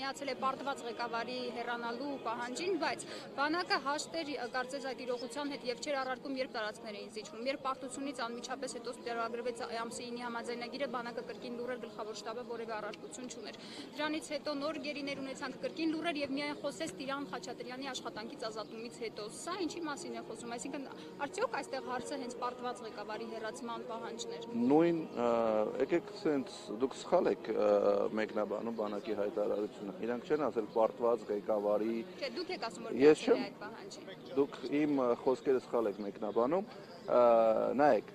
միացել է պարտված ղեկավարի հեռանալու պահանջին, բայց բանակը հաշտ էր կարծես այդ իրողության հետ եւ չէր առարկում, երբ տարածքներ էին զիջվում։ Երբ պարտությունից անմիջապես հետո ստորագրվեց ամսի 9-ի համաձայնագիրը, բանակը կրկին լուրեր գլխավոր շտաբը որևէ առարկություն չուներ։ Դրանից հետո նոր գերիներ ունեցանք կրկին լուրեր եւ միայն խոսեց Տիրան Խաչատրյանի աշխատանքից ազատումից հետո։ Սա ինչի մասին է խոսում, այսինքն արդյոք այստեղ հարցը հենց պարտված ղեկավարի հեռացման պահանջն էր։ Նույն եկեք սենց դուք սխալ եք մեկնաբանում բանակի հայտարարությունը։ Իրանք չեն ասել պարտված ղեկավարի։ Չէ, դուք եք ասում որ միացել է այդ պահանջին։ Դուք իմ խոսքերը սխալ եք մեկնաբանում։ Նայեք,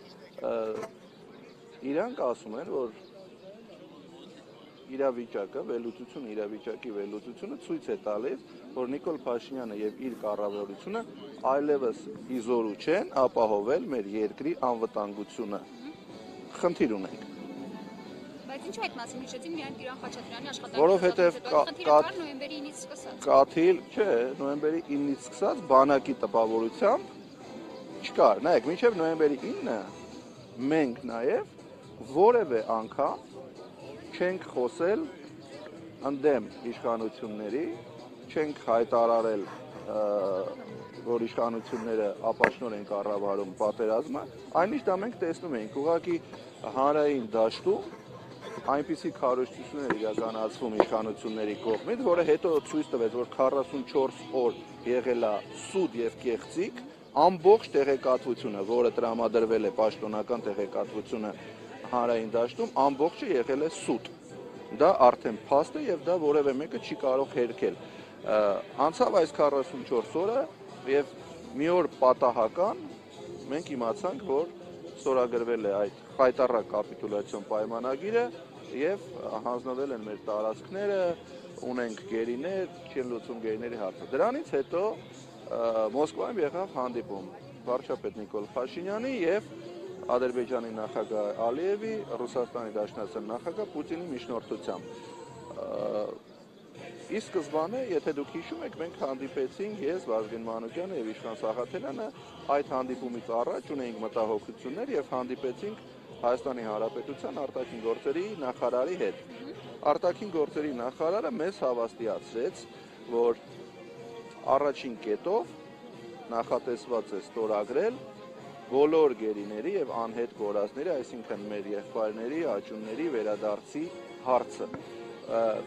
իրանք ասում են, որ իրավիճակի վերլուծությունը ցույց է տալիս, որ Նիկոլ Փաշինյանը եւ իր կառավարությունը այլևս իզորու չեն ապահովել մեր երկրի անվտանգությունը։ Խնդիր ունենք։ Բայց ինչու այդ մասին հիշեցին միայն Տիրան Խաչատրյանի աշխատանքի։ Որովհետեւ նոյեմբերի 9-ից սկսած։ Կաթիլ, չէ, նոյեմբերի 9-ից սկսած բանակի տպավորությամբ չկար։ Նայեք, մինչեւ նոյեմբերի 9-ը մենք նաեւ որևէ անգամ չենք խոսել ընդդեմ իշխանությունների, չենք հայտարարել, որ իշխանությունները ապաշնոր են կառավարում պատերազմը, այնիշ դա մենք տեսնում ենք, ուղղակի հանրային դաշտում այնպիսի քարոզչություններ իրականացվում իշխանությունների կողմից, որը հետո ցույց տվեց, որ 44 օր եղել է սուտ եւ կեղծիք, ամբողջ տեղեկատվությունը, որը տրամադրվել է պաշտոնական տեղեկատվությունը հանրային դաշտում, ամբողջը եղել է սուտ։ Դա արդեն փաստ է եւ դա որևէ մեկը չի կարող հերքել։ Անցավ այս 44 օրը եւ մի օր պատահական մենք իմացանք, որ ստորագրվել է այդ խայտառակ կապիտուլյացիոն պայմանագիրը եւ հանձնվել են մեր տարածքները, ունենք գերիներ, չեն լուծում գերիների հարցը։ Դրանից հետո Մոսկվայում եղավ հանդիպում վարչապետ Նիկոլ Փաշինյանի եւ Ադրբեջանի նախագահ Ալիևի, Ռուսաստանի Դաշնության նախագահ Պուտինի միջնորդությամբ։ Ի սկզբանե, եթե դուք հիշում եք, մենք հանդիպեցինք ես, Վազգեն Մանուկյանը եւ Իշխան Սաղաթելյանը, այդ հանդիպումից առաջ ունեինք մտահոգություններ եւ հանդիպեցինք Հայաստանի Հանրապետության արտաքին գործերի նախարարի հետ։ Արտաքին գործերի նախարարը մեզ հավաստիացրեց, որ առաջին կետով նախատեսված է ստորագրել բոլոր գերիների եւ անհետ կորածների, այսինքն մեր եղբայրների, աջունների վերադարձի հարցը։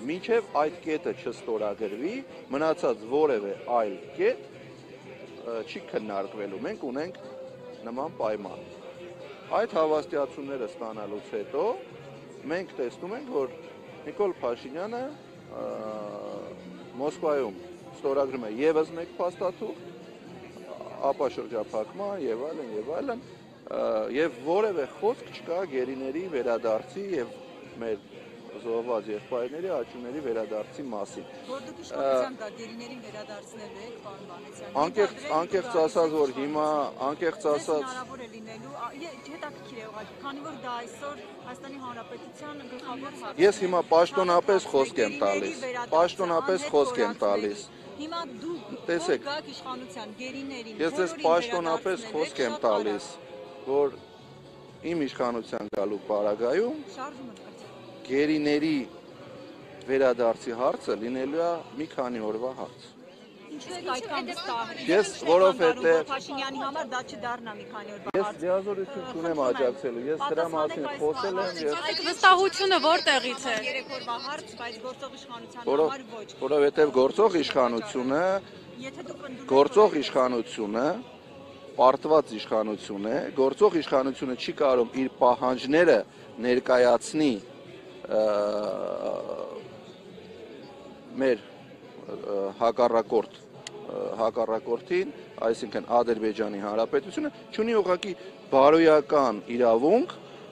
Մինչև այդ կետը չստորագրվի, մնացած որևէ այլ կետ չի քննարկվելու։ Մենք ունենք նման պայման։ Այդ հավաստիացումները ստանալուց հետո մենք տեսնում ենք, որ Նիկոլ Փաշինյանը Մոսկվայում ստորագրում է եւս մեկ փաստաթուղթ, ապա շրջափակման եւ այլն, եւ որևէ խոսք չկա գերիների վերադարձի եւ մեր զոհված եղբայրների, աջունների վերադարձի մասին։ Որ դուք իշխանության կա գերիներին վերադարձնելու եք, պարոն Վանեսյան։ Անկեղծ ասած, որ հիմա անկեղծ ասած հնարավոր է լինելու, հետաքրքիր է ուղղակի, քանի որ դա այսօր Հայաստանի Հանրապետության գլխավոր հարց է։ Ես հիմա պաշտոնապես խոսք եմ տալիս։ Հիմա դուք տեսեք, գաք իշխանության գերիներին, ես ձեզ պաշտոնապես խոսք եմ տալիս, որ իմ իշխանության գալու պարագայում գերիների վերադարձի հարցը լինելու է մի քանի օրվա հարց։ Ինչու է այդքան վստահ։ Ես որովհետեւ Փաշինյանի համար դա չդառնա մի քանի օրվա հարց։ Ես լիազորություն չունեմ աջակցելու, ես դրա մասին խոսել եմ եւ Այդ վստահությունը որտեղից է։ 3 օրվա հարց, բայց գործող իշխանության համար ոչ։ Որովհետեւ գործող իշխանությունը պարտված իշխանություն է, գործող իշխանությունը չի կարող իր պահանջները ներկայացնի մեր հակառակորդին, այսինքն Ադրբեջանի Հանրապետությունը, չունի ուղղակի բարոյական իրավունք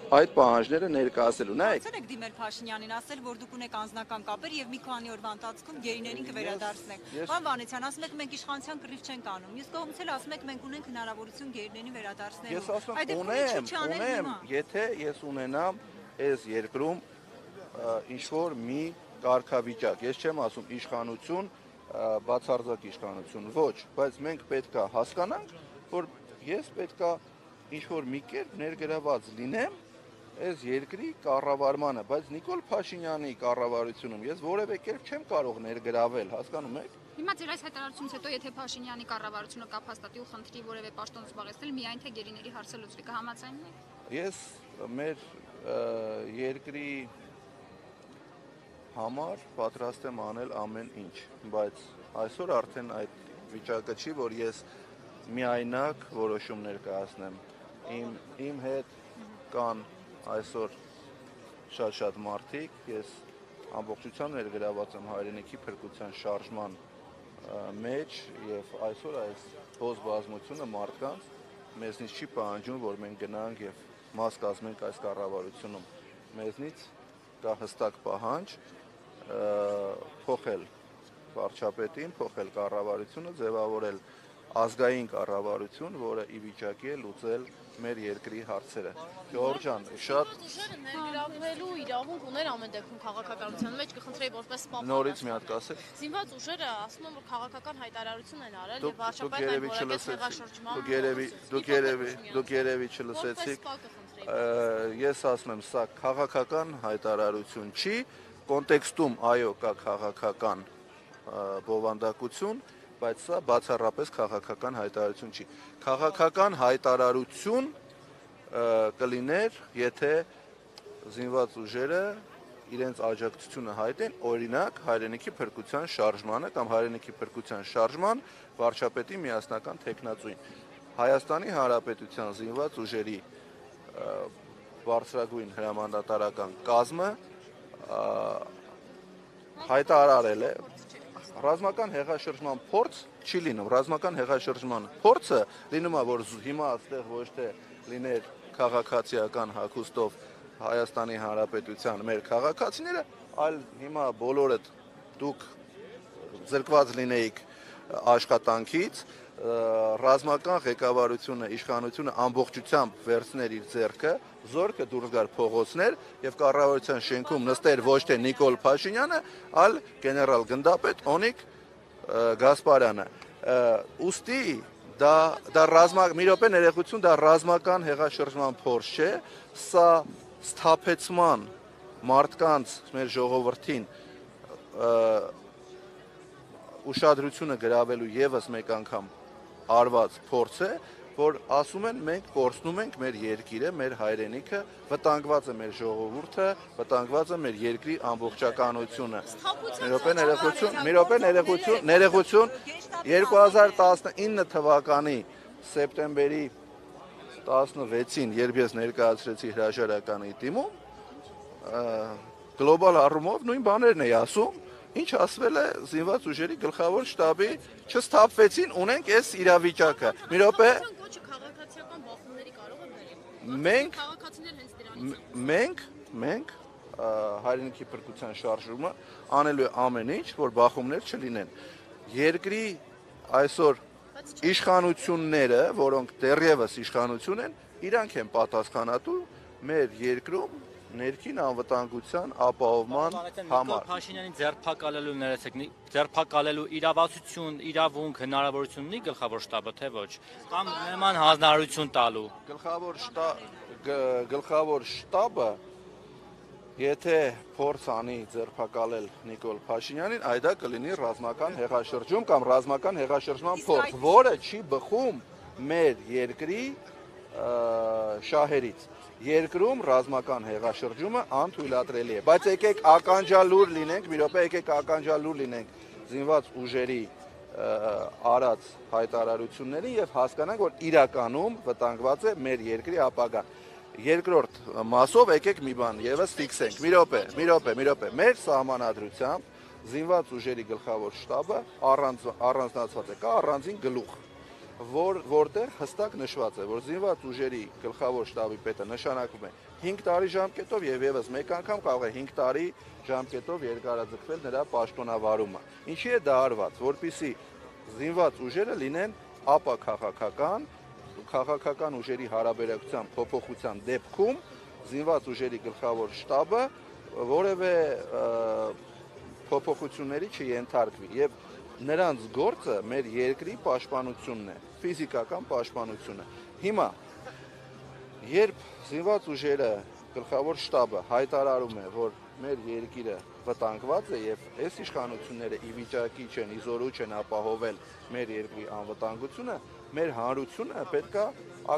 այդ պահանջները ներկայացնելու։ Նայեք, եք դիմել Փաշինյանին, ասել, որ դուք ունեք անձնական կապեր եւ մի քանի օրվա ընթացքում գերիներին կվերադարձնեք։ Պարոն Վանեսյան, ասում եք մենք իշխանության կռիվ չենք անում։ Իսկ կողմից էլ ասում եք մենք ունենք հնարավորություն գերիներին վերադարձնելու։ Ես ասում ունեմ, եթե ես ունենամ այս երկրում ինչ-որ մի կարգավիճակ, ես չեմ ասում իշխանություն, բացարձակ իշխանություն, ոչ, բայց մենք պետք է հասկանանք, որ ես պետք է ինչ-որ մի կերպ ներգրաված լինեմ այս երկրի կառավարմանը, բայց Նիկոլ Փաշինյանի կառավարությունում ես որևէ կերպ չեմ կարող ներգրավել, հասկանում եք։ Հիմա ձեր այս հայտարարությունից հետո եթե Փաշինյանի կառավարությունը կապ հաստատի ու խնդրի որևէ պաշտոն զբաղեցնել, միայն թե գերիների հարցը լուծվի, կհամաձայնվի։ Ես մեր երկրի համար պատրաստ եմ անել ամեն ինչ, բայց այսօր արդեն այդ վիճակը չի, որ ես միայնակ որոշումներ կայացնեմ։ Իմ հետ կան այսօր շատ մարդիկ, ես ամբողջությամբ ներգրաված եմ հայրենիքի փրկության շարժման մեջ եւ այսօր այս հոզ բազմությունը մարդկանց մեզնից չի պահանջում, որ մենք գնանք եւ մաս կազմենք այս կառավարությունում։ Մեզնից կա հստակ պահանջ փոխել վարչապետին, փոխել կառավարությունը, ձևավորել ազգային կառավարություն, որը ի վիճակի է լուծել մեր երկրի հարցերը։ Գյորգ ջան, շատ ներգրավվելու իրավունք ուներ ամեն դեպքում քաղաքականության մեջ, կխնդրեի որպես պապ։ նորից մի հատ կասեք։ Զինված ուժերը ասում են, որ քաղաքական հայտարարություն են արել եւ վարչապետն այն որակեց հեղաշրջման։ Դուք երևի չլսեցիք։ Ես ասում եմ, սա քաղաքական հայտարարություն չի, կոնտեքստում այո կա քաղաքական բովանդակություն, բայց սա բացառապես քաղաքական հայտարարություն չի։ Քաղաքական հայտարարություն կլիներ, եթե զինված ուժերը իրենց աջակցությունը հայտեն, օրինակ հայրենիքի փրկության շարժմանը կամ հայրենիքի փրկության շարժման վարչապետի միասնական թեկնածուին։ Հայաստանի Հանրապետության զինված ուժերի բարձրագույն հրամանատարական կազմը հայտարարել է ռազմական հեղաշրջման փորձ չի լինում, ռազմական հեղաշրջման փորձը լինում է, որ հիմա այստեղ ոչ թե լիներ քաղաքացիական հագուստով Հայաստանի Հանրապետության մեր քաղաքացիները, այլ հիմա բոլորդ դուք զրկված լինեիք աշխատանքից, ռազմական ղեկավարությունը, իշխանությունը ամբողջությամբ վերցներ իր ձեռքը, զորքը դուրս գար փողոցներ եւ կառավարության շենքում նստեր ոչ թե Նիկոլ Փաշինյանը, այլ գեներալ գնդապետ Օնիկ Գասպարյանը։ Ուստի մի րոպե ներողություն, դա ռազմական հեղաշրջման փորձ չէ, սա սթափեցման մարդկանց մեր ժողովրդին ուշադրությունը գրավելու եւս մեկ անգամ արված փորձ է, որ ասում են մենք կորցնում ենք մեր երկիրը, մեր հայրենիքը, վտանգված է մեր ժողովուրդը, վտանգված է մեր երկրի ամբողջականությունը։ Մի րոպե ներողություն 2019 թվականի սեպտեմբերի 16-ին, երբ ես ներկայացրեցի հրաժարականի դիմում, գլոբալ առումով նույն բաներն էի ասում, ինչ ասվել է զինված ուժերի գլխավոր շտաբի, չսթափվեցին, ունենք այս իրավիճակը։ Մի րոպե մենք հայրենիքի փրկության շարժումը անելու է ամեն ինչ, որ բախումներ չլինեն։ Երկրի այսօր իշխանությունները, որոնք դեռևս իշխանություն են, իրանք են պատասխանատու մեր երկրում ներքին անվտանգության ապահովման համար։ Փաշինյանի ձերբակալելու ձերբակալելու իրավասություն, իրավունք, հնարավորություն ունի գլխավոր շտաբը, թե ոչ, կամ նման հանձնարարություն տալու։ Գլխավոր շտաբը, եթե փորձ անի ձերբակալել Նիկոլ Փաշինյանին, այդա կլինի ռազմական հեղաշրջում կամ ռազմական հեղաշրջման փորձ, որը չի բխում մեր երկրի շահերից։ Երկրում ռազմական հեղաշրջումը անթույլատրելի է, բայց եկեք ականջալուր լինենք, մի րոպե եկեք ականջալուր լինենք զինված ուժերի արած հայտարարություններին եւ հասկանանք, որ իրականում վտանգված է մեր երկրի ապագան։ Երկրորդ մասով եկեք մի բան եւս ֆիքսենք։ Մի րոպե։ Մեր սահմանադրությամբ զինված ուժերի գլխավոր շտաբը առանձնացված է, կա առանձին գլուխ, որտեղ հստակ նշված է, որ զինված ուժերի գլխավոր շտաբի պետը նշանակվում է 5 տարի ժամկետով եւ եւս մեկ անգամ կարող է 5 տարի ժամկետով երկարաձգվել նրա պաշտոնավարումը։ Ինչի է դա արված, որպեսզի զինված ուժերը լինեն քաղաքական ուժերի հարաբերակցության փոփոխության դեպքում զինված ուժերի գլխավոր շտաբը որևէ փոփոխությունների չենթարկվի եւ նրանց գործը մեր երկրի պաշտպանությունն է, ֆիզիկական պաշտպանությունը։ Հիմա երբ զինված ուժերը գլխավոր շտաբը հայտարարում է, որ մեր երկիրը վտանգված է եւ այս իշխանությունները ի վիճակի չեն, իզորու չեն ապահովել մեր երկրի անվտանգությունը, մեր հանրությունը պետքա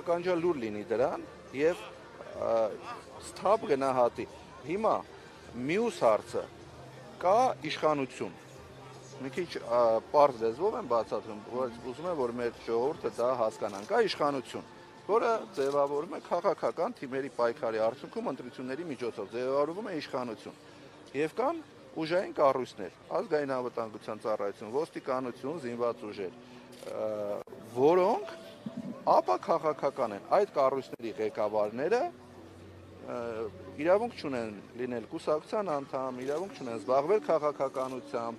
ականջալուր լինի դրան եւ ստապ գնահատի։ Հիմա մյուս հարցը կա իշխանություն։ Մի քիչ պարզ լեզվով եմ բացատրում, որ ուզում եմ որ մեր ժողովուրդը դա հասկանան։ Կա իշխանություն, որը ձևավորվում է քաղաքական թիմերի պայքարի արդյունքում ընտրությունների միջոցով ձևավորվում է իշխանություն։ Եվ կան ուժային կառույցներ, ազգային անվտանգության ծառայություն, ոստիկանություն, զինված ուժեր, որոնք ապա քաղաքական են։ Այդ կառույցների ղեկավարները իրավունք չունեն լինել կուսակցության անդամ, իրավունք չունեն զբաղվել քաղաքականությամբ,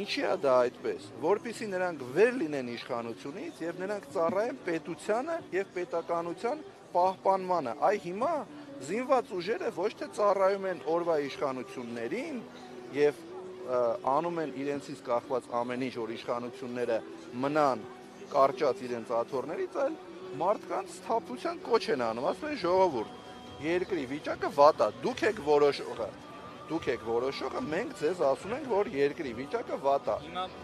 ինչի է դա այդպես, որպեսզի նրանք վեր լինեն իշխանությունից եւ նրանք ծառայեն պետությանը եւ պետականության պահպանմանը։ Այ հիմա զինված ուժերը ոչ թե ծառայում են օրվա իշխանություններին եւ անում են իրենցից կախված ամեն ինչ, որ իշխանությունները մնան կարճած իրենց աթոռներից, այլ մարդկանց սթափության կոչ են անում, ասում են ժողովուրդ, երկրի վիճակը վատ է, դուք եք որոշողը, մենք ձեզ ասում ենք, որ երկրի վիճակը վատ է,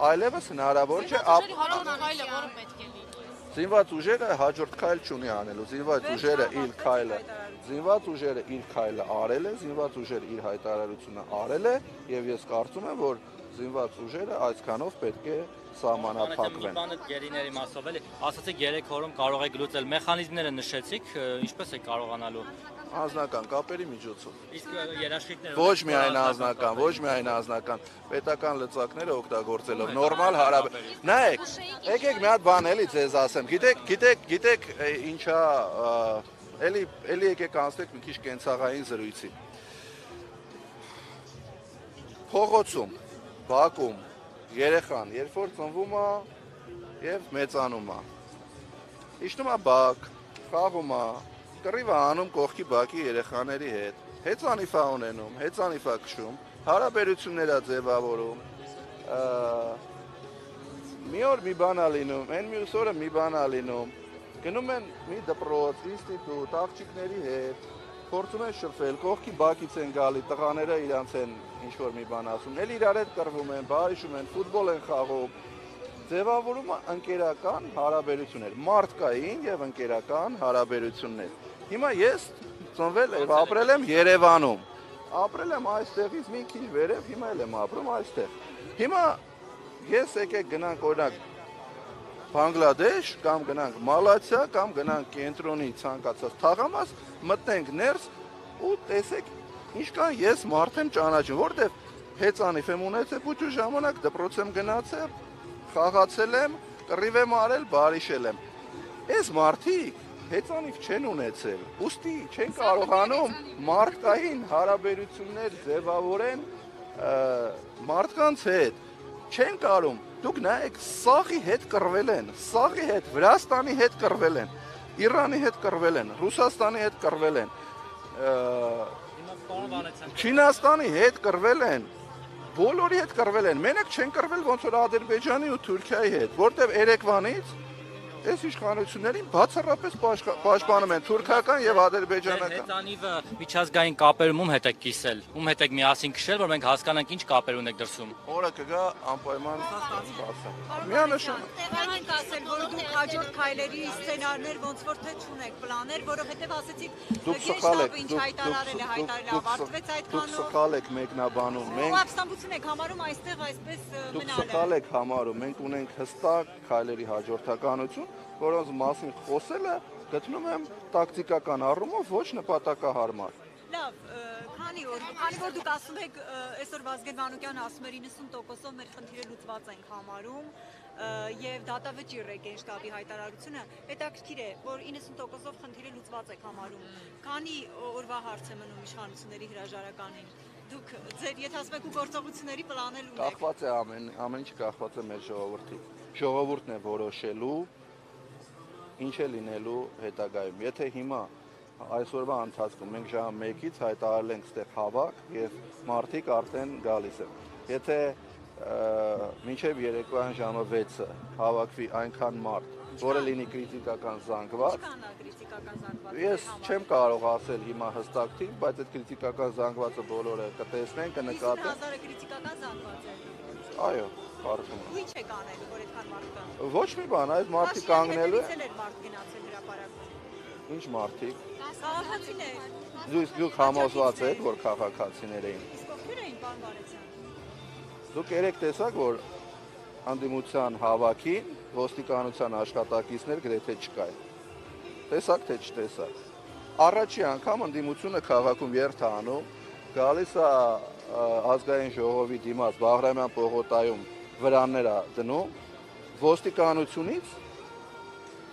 այլևս հնարավոր չէ զինված ուժերը հաջորդ քայլ չունի անելու, զինված ուժերը իր քայլը արել է, զինված ուժերը իր հայտարարությունը արել է եւ ես կարծում եմ, որ զինված ուժերը այսքանով պետք է սահմանափակվեն։ Մի բանը գերիների մասով էլի, ասացիք 3 օրում կարող եք լուծել, մեխանիզմները նշեցիք, ինչպես է կարողանալու։ Անձնական կապերի միջոցով։ Իսկ երաշխիքները Ոչ միայն անձնական, պետական լծակները օգտագործելով նորմալ հարաբերություն։ Նայեք, եկեք մի հատ բան էլի ձեզ ասեմ։ Գիտեք ինչա, էլի եկեք անցնենք մի քիչ կենցաղային զրույցի։ Փողոցում, բակում երեխան, երբ որ ծնվում է եւ մեծանում է։ Իջնում է բակ, խաղում է, կռիվ է անում կողքի բակի երեխաների հետ, հեծանիվ է ունենում, հեծանիվ է քշում, հարաբերություններ է ձևավորում, մի օր մի բան է լինում, այն մյուս օրը մի բան է լինում, գնում են մի դպրոց, ինստիտուտ, աղջիկների հետ, փորձում են շփվել, կողքի բակից են գալի, տղաները իրանց են ինչ-որ մի բան ասում, էլ իրար հետ կռվում են, բարիշում են, ֆուտբոլ են խաղում, ձևավորում է ընկերական հարաբերություններ, մարդկային եւ ընկերական հարաբերություններ։ Հիմա ես ծնվել եւ ապրել եմ Երևանում, ապրել եմ այստեղից մի քիչ վերև, հիմա էլ եմ ապրում այստեղ։ Հիմա ես եկեք գնանք օրինակ Բանգլադեշ կամ գնանք Մալացիա կամ գնանք կենտրոնի ցանկացած թաղամաս, մտնենք ներս ու տեսեք ինչքան ես մարդ եմ ճանաչում, որտեվ հեծանիվ եմ ունեցել փոքր ժամանակ դպրոց եմ գնացել, խաղացել եմ, կռիվ եմ արել, բարիշել եմ։ Այս մարդիկ հեծանիվ չեն ունեցել, ուստի չեն կարողանում մարդկային հարաբերություններ ձևավորեն մարդկանց հետ, չեն կարող։ Դուք նայեք, Սաղի հետ կռվել են, Սաղի հետ, Վրաստանի հետ կռվել են, Իրանի հետ կռվել են, Ռուսաստանի հետ կռվել են, Չինաստանի հետ կռվել են, բոլորի հետ կռվել են, մենակ չեն կռվել ոնց որ Ադրբեջանի ու Թուրքիայի հետ, որտեվ երեկվանից այս իշխանություններին բացառապես պաշտպանում են թուրքական եւ ադրբեջանական։ Հեծանիվը միջազգային կապերում ում հետ եք կիսել, ում հետ եք միասին քշել, որ մենք հասկանանք ինչ կապեր ունեք դրսում։ Օրը կգա անպայման բացեմ։ Միանշանակ։ Տեղանք ենք ասել, որ դուք հաջորդ քայլերի սցենարներ ոնց որ թե չունեք, պլաներ, որովհետեւ ասեցիք գեշտաբը ինչ հայտարարել է, ավարտվեց այդքանով։ Դուք սխալ եք մեկնաբանում։ Մենք ապստամբություն եք համարում այստեղ այսպես մնալը։ Դուք սխալ եք համարում, մենք ունենք հստակ քայլերի հաջորդականություն, որոնց մասին խոսելը գտնում եմ տակտիկական առումով ոչ նպատակահարմար։ Լավ, քանի որ դուք ասում եք, այսօր Վազգեն Մանուկյանը ասում էր 90%-ով մեր խնդիրը լուծված ենք համարում եւ դատավճիռ է Գենշտաբի հայտարարությունը, հետաքրքիր է, որ 90%-ով խնդիրը լուծված եք համարում։ Քանի օրվա հարց է մնում իշխանությունների հրաժարականին։ Դուք ձեր եթե ասում եք ու գործողությունների պլանել ունեք։ Կախված է ամեն ինչ կախված է մեր ժողովրդից։ Ժողովուրդն է որոշելու ինչ է լինելու հետագայում։ Եթե հիմա այսօրվա ընթացքում մենք ժամը 1-ից հայտարարել ենք ստեղ հավաք եւ մարդիկ արդեն գալիս են։ Եթե մինչև երեկոյան ժամը 6-ը հավաքվի այնքան մարդ, որը լինի քրիտիկական զանգված։ Ինչքան է քրիտիկական զանգվածը։ Ես չեմ կարող ասել հիմա հստակ թիվ, բայց այդ քրիտիկական զանգվածը բոլորը կտեսնեն, կնկատեն։ 50,000-ը քրիտիկական զանգված է։ Այո, կարծում եմ։ Ու ինչ է կանելու, որ այդքան մարդ կան։ Ոչ մի բան, այս մարդիկ կանգնելու է մարդ գնացել հրապարակում։ Ինչ մարդիկ։ Քաղաքացիներ։ Դուք համոզված եք, որ քաղաքացիներ էին։ Իսկ ովքեր էին, պարոն Վարդան։ Դուք երեք տեսաք, որ հանդիմության հավաքին ոստիկանության աշխատակիցներ գրեթե չկային։ Տեսաք թե չտեսաք։ Առաջի անգամ հանդիմությունը քաղաքում երթ է անում, գալիս է ազգային ժողովի դիմաց Բաղրամյան պողոտայում վրաններ է դնում, ոստիկանությունից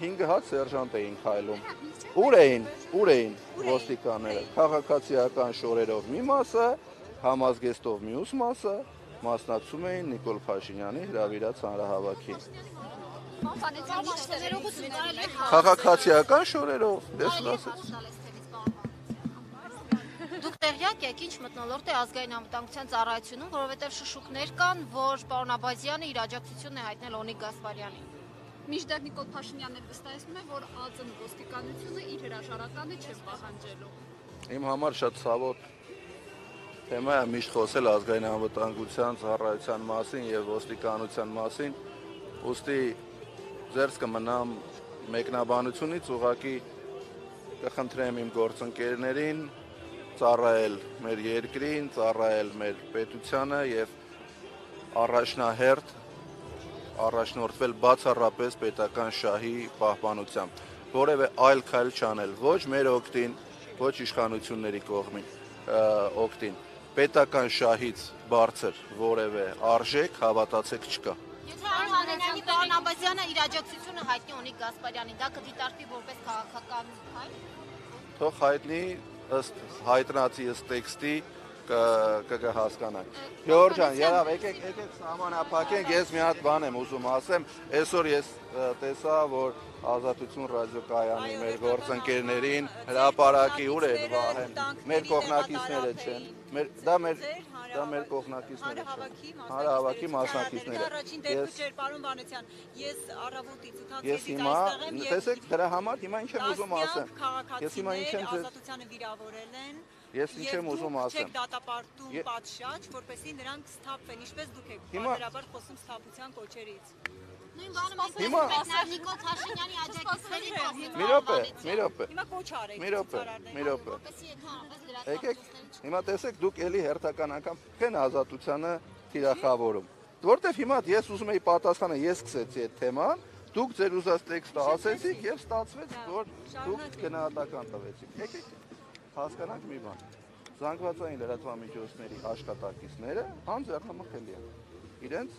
5 հատ սերժանտ էին քայլում։ Ուր էին ոստիկանները։ Քաղաքացիական շորերով մի մասը, համազգեստով մյուս մասը մասնակցում էին Նիկոլ Փաշինյանի հրավիրած հանրահավաքին։ Քաղաքացիական շորերով, դες ասած։ Դուք տեղյակ եք ինչ մթնոլորտ է ազգային անվտանգության ծառայությունում, որովհետև շշուկներ կան, որ պարոն Աբազյանը իր աջակցությունն է հայտնել Օնիկ Գասպարյանին։ Մինչդեռ Նիկոլ Փաշինյանն էլ վստահեցնում է, որ ԱԾՆ ոստիկանությունը իր հրաժարականը չէ պահանջելու։ Իմ համար շատ ցավոտ թեմա է միշտ խոսել ազգային անվտանգության ծառայության մասին եւ ոստիկանության մասին, ուստի ձերս կմնամ մեկնաբանությունից ուղղակի կխնդրեմ իմ գործընկերներին ծառայել մեր երկրին, ծառայել մեր պետությանը եւ առաջնորդվել բացառապես պետական շահի պահպանությամբ, որևէ այլ քայլ չանել, ոչ մեր օգտին, ոչ իշխանությունների կողմին օգտին, պետական շահից բարձր որևէ արժեք հավատացեք չկա։ Եթե անհանրանի պարոն Աբազյանը իր աջակցությունը հայտնի Օնիկ Գասպարյանին, դա կդիտարկվի որպես քաղաքական քայլ։ Թող հայտնի ըստ հայտնացի ըստ տեքստի կհասկանանք։ Գյորգ ջան, եղավ, եկեք սահմանափակենք, ես մի հատ բան եմ ուզում ասեմ, այսօր ես տեսա, որ Ազատություն ռադիոկայանի մեր գործընկերներին հրապարակի ուր էր վահեն, մեր կողմնակիցները չեն, դա մեր կողմնակիցները չեն, հանրահավաքի մասնակիցները։ Առաջին դեպքը չէր, պարոն Վանեցյան, ես առավոտից 8-ից Ես հիմա, տեսեք, դրա համար հիմա ինչ եմ ուզում ասեմ։ Ես հիմա ինչ եմ Ազատությանը վիրավորել են։ Ես ինչ եմ ուզում ասեմ։ Չեք դատապարտում պատշաճ, որպեսզի նրանք սթափվեն, ինչպես դուք եք բարբերաբար խոսում սթափության կոչերից։ Նույն բանը մենք Նիկոլ Փաշինյանի աջակիցների կողմից։ Մի րոպե։ Հիմա կոչ արեք։ Մի րոպե։ Եկեք, հիմա տեսեք դուք էլի հերթական անգամ քեն Ազատությանը թիրախավորում։ Որտեվ հիմա ես ուզում եի պատասխանը, ես սկսեցի այդ թեման, դուք ձեր ուզած տեքստը ասեցիք եւ ստացվեց, որ դուք գնահատական տվեցիք։ Եկեք հասկանանք մի բան։ Զանգվածային լրատվամիջոցների աշխատակիցները անձեռնամխելի են իրենց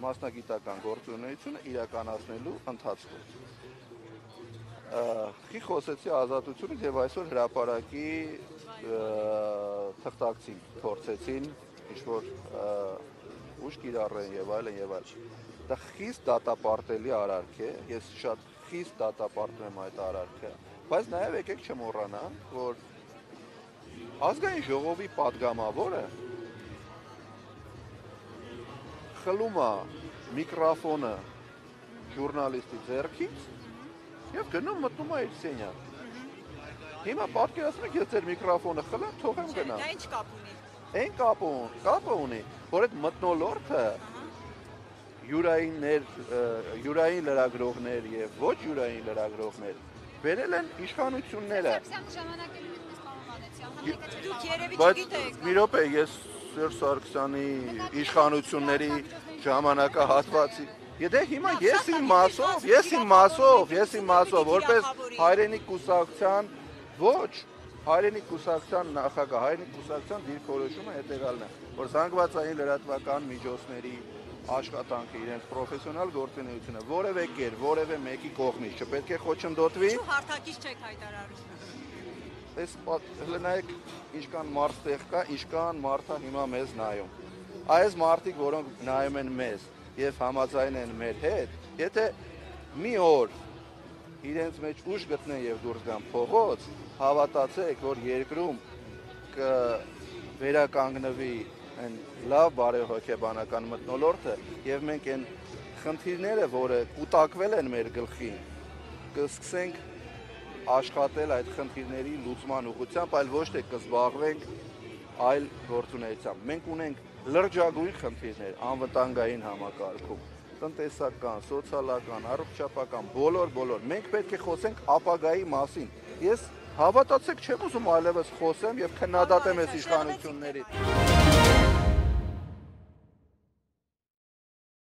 մասնագիտական գործունեությունը իրականացնելու ընթացքում։ Խի խոսեցի Ազատությունից եւ այսօր հրապարակի թղթակցին փորձեցին ինչ-որ ուժ կիրառեն եւ այլն եւ այլն։ Դա խիստ դատապարտելի արարք է, ես շատ խիստ դատապարտում եմ այդ արարքը, բայց նաեւ եկեք չմոռանանք, որ ազգային ժողովի падգամավորը խլում է միկրոֆոնը ժուրնալիստի ձեռքից եւ գնում մտնում է իր սենյակ։ Հիմա պատկերացնում եք, ես ձեր միկրոֆոնը խլեմ, թողեմ գնամ։ Դա ինչ կապ ունի։ Այն կապը ունի, որ այդ մթնոլորտը յուրային լրագրողներ եւ ոչ յուրային լրագրողներ վերել են իշխանությունները։ Դուք երևի Բայց չգիտեք։ մի րոպե, ես Սերժ Սարգսյանի իշխանությունների ժամանակահատվածի Եթե հիմա ես իմ մասով, որպես հայրենիք կուսակցության, ոչ, հայրենիք կուսակցության նախագահ, հայրենիք կուսակցության դիրքորոշումը հետևյալն է, որ զանգվածային լրատվական միջոցների աշխատանքը, իրենց պրոֆեսիոնալ գործունեությունը որևէ կեր, որևէ մեկի կողմից չպետք է խոչընդոտվի։ Ինչու հարթակից չեք հայտարարում։ Այս նայեք ինչքան մարդ տեղ կա, ինչքան մարդը հիմա մեզ նայում։ Այս մարդիկ, որոնք նայում են մեզ եւ համաձայն են մեր հետ, եթե մի օր իրենց մեջ ուժ գտնեն եւ դուրս գան փողոց, հավատացեք, որ երկրում վերականգնվի այն լավ բարեհոգեբանական մթնոլորտը եւ մենք այն խնդիրները, որը կուտակվել են մեր գլխին, կսկսենք աշխատել այդ խնդիրների լուծման ուղղությամբ, այլ ոչ թե կզբաղվենք այլ գործունեությամբ։ Մենք ունենք լրջագույն խնդիրներ անվտանգային համակարգում, տնտեսական, սոցիալական, առողջապահական, բոլոր։ Մենք պետք է խոսենք ապագայի մասին։ Ես հավատացեք չեմ ուզում այլևս խոսեմ եւ քննադատեմ այս իշխանությունների։